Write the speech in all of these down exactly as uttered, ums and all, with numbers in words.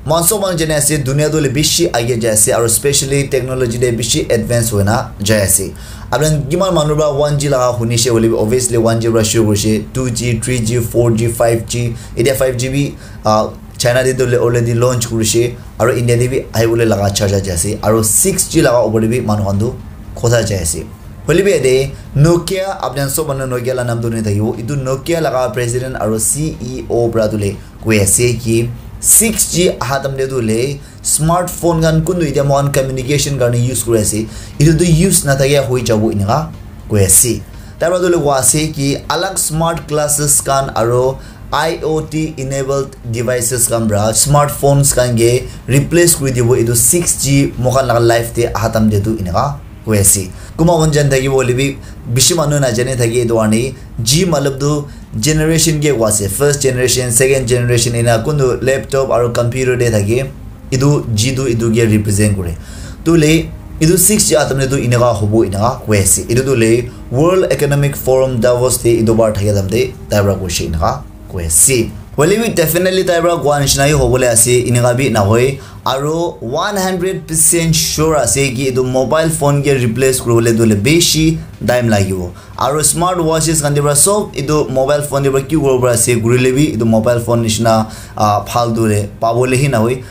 Moikhan sob manu jane ase, dunia tu hoile bishi age jai ase, aru specially technology de bishi advance hoina jai ase. Apni kiman manu pra one G laga hunishe hoile bi, obviously one G pra shuru kurishe, two G, three G, four G, five G, etia five G bi, ah, China de tu hoile already launch kurishe, aru India de bi ahibole laga cha cha jai ase, aru six G laga opor de bi manu khan tu kotha jai ase. Hoile bi yate Nokia, apni khan sob manu Nokia la naam tu huni thakibo. Etu Nokia laga president aru C E O pra tu le koi ase ki six G aha time te tu le smartphone khan kuntu etia moikhan communication karne use kuri ase, etu tu use nathakia hoi jabo eneka koi ase. Tar pra tu le koi ase ki alag smart glasses khan aru I O T enabled devices khan pra smartphones khan ke replace kuri dibo etu six G moikhan laga life te aha time te tu eneka koi ase. Kunba khan jani thakibo hoile bi bishi manu najane thake etu karne G matlab tu generation ke koi ase, first generation, second generation, ena kuntu laptop aru computer de thake, etu G tu etu ke represent kore. Tu le etu six G aha time te tu eneka hobo eneka koi ase. Etu tu le World Economic Forum Davos te etu bar thake time te tai pra koishe eneka koi ase. Hoile bi definitely tai pra koa nishina hi hobole ase, eneka bi nahoi. Aru one hundred percent sure ase ki etu mobile phone ke replace kuribole tu hoile bishi time lagibo. Aru smart watches khan te pra sob etu mobile phone te pra ki kuribo para ase, kurile bi etu mobile phone nishina, ah, phal tu hoile pabole hi nahoi.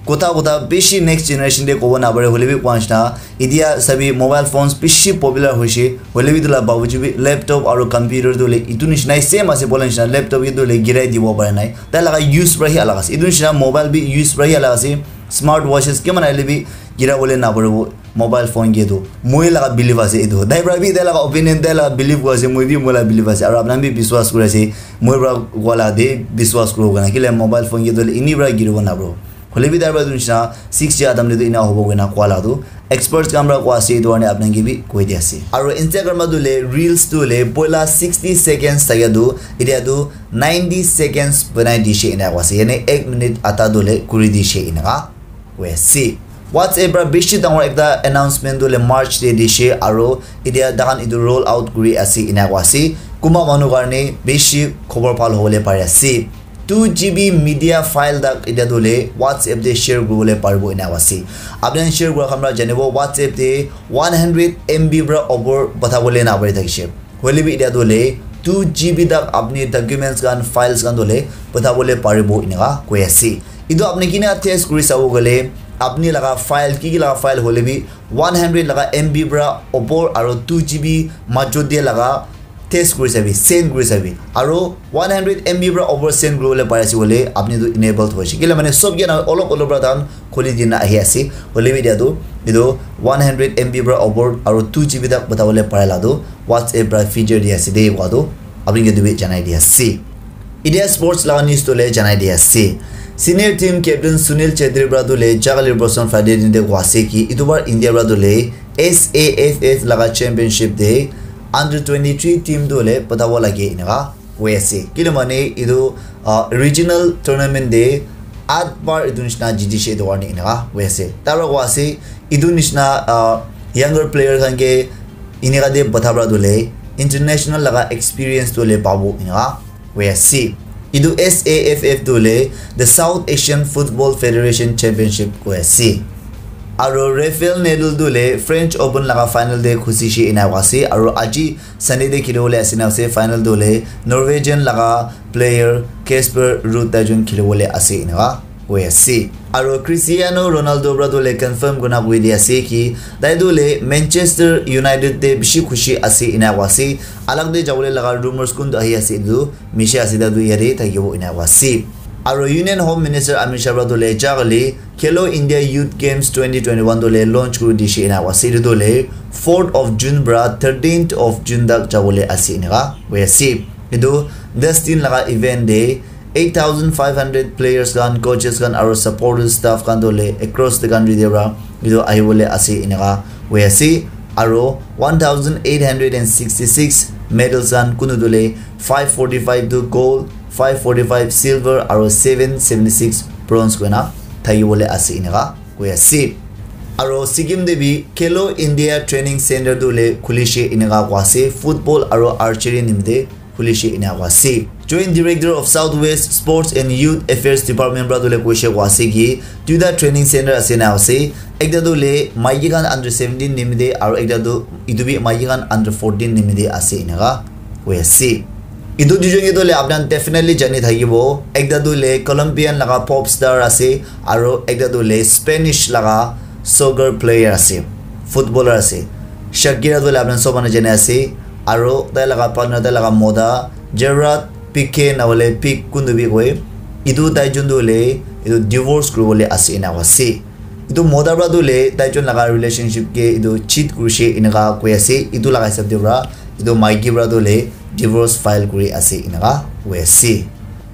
Kotha kotha bishi next generation te kobo napare, hoile bi koa nishina etia sabi mobile phones bishi popular hoishe, hoile bi etu la babuji bi laptop aru computer tu hoile etu nishina same ase, bola nishina laptop ke tu hoile girai dibo para nai, tai laga use pra hi alag ase. Etu nishina mobile bi use pra hi alag ase, smart watches kiman ahile bi gira bole naparibo mobile phone ke tu. Moi laga belief ase etu, tai pra bi tai laga opinion, tai laga belief koi ase, moi bi moi laga belief ase, aru apni khan bi biswas kuri ase, moi pra koa la de biswas kuribo karne, kile mobile phone ke tu hoile eni pra giribo naparibo. Hoile bi tai pra tu nishina six G aha time te tu ena hobo koina koa la tu experts khan pra koa ase, etu karne apni khan ke bi koi di ase. Aru Instagram pra tu hoile reels tu hoile poila sixty seconds thakia tu etia tu ninety seconds banai dishe ena koa ase, yani ek minute adha tu hoile kuri dishe eneka koi ase. WhatsApp pra bishi dangor ekta announcement tu hoile March te dishe, aru etia takhan etu roll out kuri ase ena koa ase. Kunba manu karne bishi khobor bhal hobole pari ase. Two G B media file tak etia tu hoile WhatsApp te share kuribole paribo ena ase. Apni khan share kura khan pra janibo WhatsApp te one hundred M B pra opor pathabole napari thakishe. Hoile bi etia tu hoile two G B tak apni documents khan, files khan tu hoile pathabole paribo eneka koi ase. Etu apni kina test kuri sabo koile apni laga file, ki ki laga file hoile bi one hundred laga M B pra opor aru two G B majot te laga test kuri sabi, send kuri sabi. Aru one hundred M B pra over send kuribole pari ase koile apni tu enabled hoishe. Kile mane sob ke na olop olop pra tahan khuli dina ahi ase. Hoile bi etia tu etu one hundred M B pra over aru two G B tak pathabole pare la tu WhatsApp pra feature di ase de koa tu apni ke tu bi janai di ase. Etia sports laga news tu hoile janai di ase. Senior team captain Sunil Chhetri pra tu hoile jagalir Boston Friday din te koa ase ki etu bar India pra tu hoile S A F F laga championship te under twenty-three team tu hoile patabo lage eneka koi ase. Kile mane etu, ah, regional tournament te at bar etu nishina jitishe etu karne eneka koi ase. Tai pra koa ase etu nishina, ah, younger player khan ke eneka te patha pra tu hoile international laga experience tu hoile pabo eneka koi ase. Etu S A F F tu hoile the South Asian Football Federation Championship koi ase. Aru Rafael Nadal tu hoile French Open laga final te khusishe ena koa ase. Aru aji Sunday te khilibole ase na ase, final tu hoile Norwegian laga player Casper Ruud tai jun khilibole ase eneka koi ase. Aru Cristiano Ronaldo pra tu hoile confirm kurina koi di ase ki tai tu hoile Manchester United te bishi khushi ase ena koa ase. Alag te jabole laga rumors kuntu ahi ase etu misha ase, tai tu yate thakibo ena koa ase. Aru Union Home Minister Amit Shah pra tu hoile jagale Khelo India Youth Games twenty twenty-one tu hoile launch kuri dishe ena koa ase. Etu tu hoile fourth of June pra thirteenth of June tak jabole ase eneka koi ase. Etu das din laga event te eight thousand five hundred players khan, coaches khan aru supporters staff khan tu hoile across the country te pra etu ahibole ase eneka koi ase. Aru one thousand eight hundred and sixty-six medals khan kuntu tu hoile five forty-five tu gold, five forty-five silver aru seven seventy-six bronze koina thakibole ase eneka koi ase. Aru Sikkim te bi Khelo India Training Center tu hoile khulishe eneka koa ase, football aru archery nimite khulishe ena koa ase. Joint Director of Southwest Sports and Youth Affairs Department pra tu le koishe koa ase ki duita training center ase na ase. Ekta tu le maiki khan under seventeen nimite aro ekta tu itu bi maiki khan under fourteen nimite ase eneka koi ase. Itu duijon ke tu le apni khan definitely jani thakibo. Ekta tu le Colombian laga pop star ase aro ekta tu le Spanish laga soccer player ase, footballer ase. Shakira tu le apni khan sob manu jani ase. Aro tai laga partner, tai laga mota, Gerard Pique na hoile Pique kuntu bi koi. Itu tai jun tu hoile itu divorce kuribole ase ena koa ase. Itu mota pra tu hoile tai jun laga relationship ke itu cheat kurishe eneka koi ase. Itu laga hisab te pra itu maiki pra tu hoile divorce file kuri ase eneka koi ase.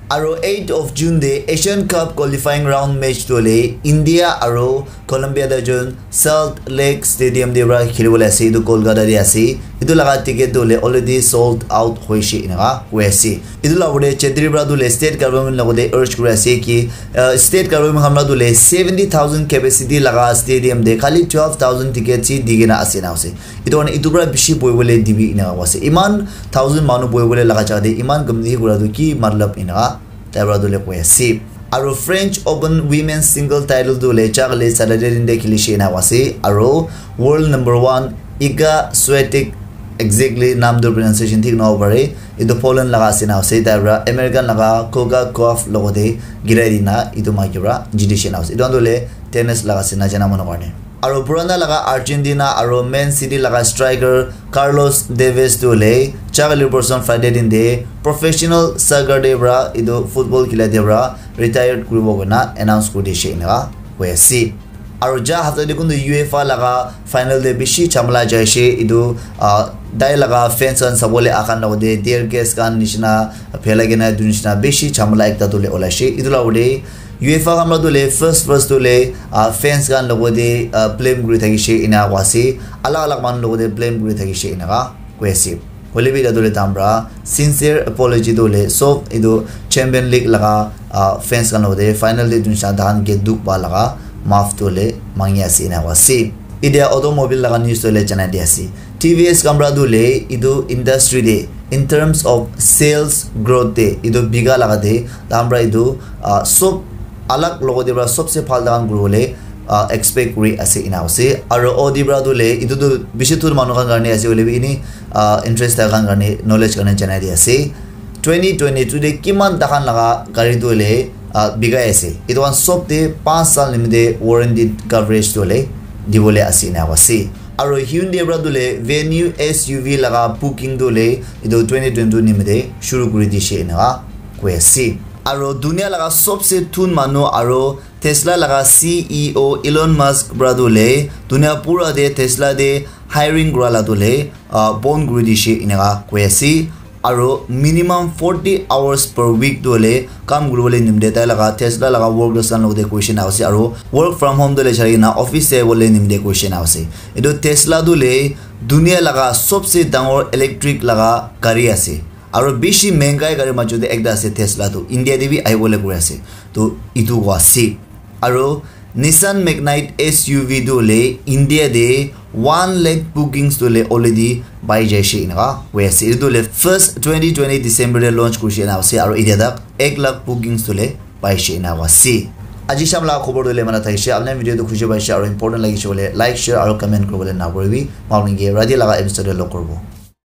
Aro eighth of June te Asian Cup qualifying round match tu hoile India aro Colombia te jun Salt Lake Stadium te pra khilibole ase, itu Kolkata te ase. Itu laga ticket tu hoile already sold out hoishe eneka koi ase. Itu la ugure Chetri pra tu hoile state government logote urge kuri ase ki, uh, state government khan pra tu hoile seventy thousand capacity laga stadium te khali twelve thousand ticket chi di kena ase na ase. Itu karne itu pra bishi bohibole dibi eneka koi ase. Iman thousand manu bohibole laga jaga te iman community kura tu ki matlab eneka tai pra tu le koi ase. Aro French Open Women's Single title tu le chakale Saturday din de khilishe ena ase. Aro world number one Iga Swiatek, exactly naam tu pronunciation thik nahobo pare. Itu Poland laga ase na ase. Tai pra American laga Coco Gauff logote girai dina itu maiki pra jitishe na ase. Itu khan tu le tennis laga ase na jana manu karne. Aro purana laga Argentina aro Man City laga striker Carlos Tevez tu hoile chakali person Friday din de professional soccer te pra itu football khila te pra retired kuribo koina announce kuri dishe eneka koi ase. Aro ja hapta te kuntu UEFA laga final te bishi chamala jaishe itu, ah, tai laga fans khan sabole ahan logote tear gas khan nishina phelai kena itu nishina bishi chamala ekta tu le olaishe. Itu la ugure UEFA khan pra tu le first first tu le, ah, fans khan logote, ah, blame kuri thakishe ena koi ase. Alag alag manu logote blame kuri thakishe eneka koi ase. Hoile bi etu le tahan pra sincere apology tu le sob etu Champion League laga, ah, fans khan logote final te etu nisina tahan ke dukh pa laga maaf tu le mangi ase ena koi ase. Etia automobile laga news tu le janai di ase. T V S khan pra tu le etu industry te in terms of sales growth te etu bika laga te tahan pra etu, ah, sob alag logote pra sobse bhal tahan kuribole, ah, expect kuri ase ena ase. Aro Audi pra tu le etu tu bishi thun manu khan karne ase hoile bi ini, ah, interest thaka khan karne knowledge karne janai di ase. Twenty twenty-two te kiman tahan laga gari tu hoile, ah, bikai ase. Etu khan sob te panch saal nimite warranty coverage tu hoile dibole ase ena ase. Aro Hyundai pra tu hoile Venue S U V laga booking tu hoile etu twenty twenty-two nimite shuru kuri dishe eneka koi ase. Aro dunia laga sobse thun manu aro Tesla laga C E O Elon Musk pra tu hoile dunia pura te Tesla te hiring kura la tu hoile, ah, bon kuri dishe eneka koi ase. Aro minimum forty hours per week tu hoile kam kuribole nimite tai laga Tesla laga workers khan logote koishe ena ase. Aro work from home tu hoile jai kena office te bole nimite koishe ena ase. Etu Tesla tu hoile dunia laga sobse dangor electric laga gari ase. Aro bishi mengai gari majot te ekta ase Tesla tu. India te bi ahibole kuri ase. To etu koi ase. Aro Nissan Magnite S U V tu hoile India te one lakh bookings tu hoile already pai jaishe eneka koi ase. Etu tu hoile first twenty twenty December te launch kurishe ena ase aro etia tak ek lakh bookings tu hoile paishe ena koi ase. Aji sham laga khobor tu hoile mana thakishe. Apni video tu khushi paishe aro important lagishe hoile like, share aro comment kuribole na puribi. Moi apni ke rati laga episode te log kuribo.